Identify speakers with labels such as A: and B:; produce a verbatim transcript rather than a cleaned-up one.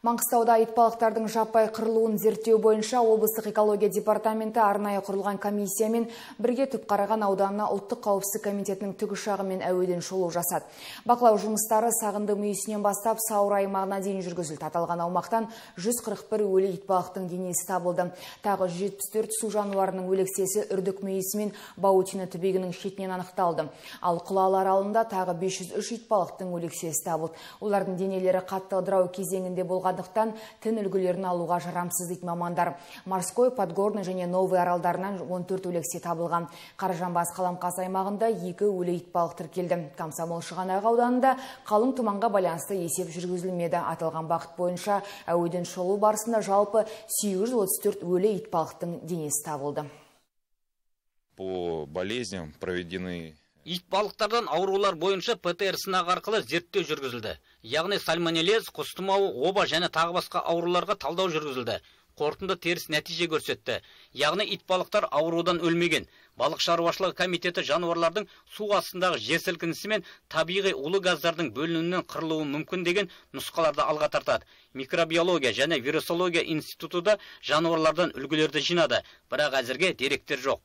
A: Маңғыстауда итбалықтардың жаппай қырылуын зерттеу бойынша облыстық экология департаменті арнайы құрылған комиссиямен бірге Түпқараған ауданына ұлттық қауіпсіздік комитетінің тікұшағымен әуеден шолу жасады. Бақылау жұмыстары Сағынды мүйісінен бастап Сауыр аймағына дейін жүргізілді. Аталған аумақтан жүз қырық бір өлі итбалықтың денесі табылды. Тағы жүз жетпіс төрт су жануарының өлексесі Үрдік мүйісі мен Баутино түбегінің шетінен анықталды. Ал Құлалы аралында тағы бес жүз үш итбалықтың өлексесі табылды. Олардың денелері қатты ыдырау кезеңінде болған тін үлгілерін алуға жарамсыз дейді мамандар. Морской, Подгорный және Новый аралдарынан он төрт өлексе табылған. Қаражанбас Қаламқас аймағында екі өлі итбалық тіркелді. Комсомол Шығанақ ауданында қалың тұманға байланысты есеп жүргізілмеді. Аталған бағыт бойынша әуеден шолу барысында жалпы сегіз жүз отыз төрт өлі итбалықтың денесі табылды.
B: По болезням проведены
C: Итбалықтардан аурулар бойынша ПТР сынақ арқылы зерттеу жүргізілді. Яғни сальмонеллез, құс тұмауы, оба және тағы басқа ауруларға талдау жүргізілді. Қорытынды теріс нәтиже көрсетті. Яғни итбалықтар аурудан өлмеген. Балық шаруашылығы комитеті жануарлардың су астындағы жер сілкінісі мен табиғи улы газдардың бөлінуінен қырылуы мүмкін деген нұсқаларды алға тартады. Микробиология және вирусология институты да жануарлардан үлгілерді жинады, бірақ әзірге деректер жоқ.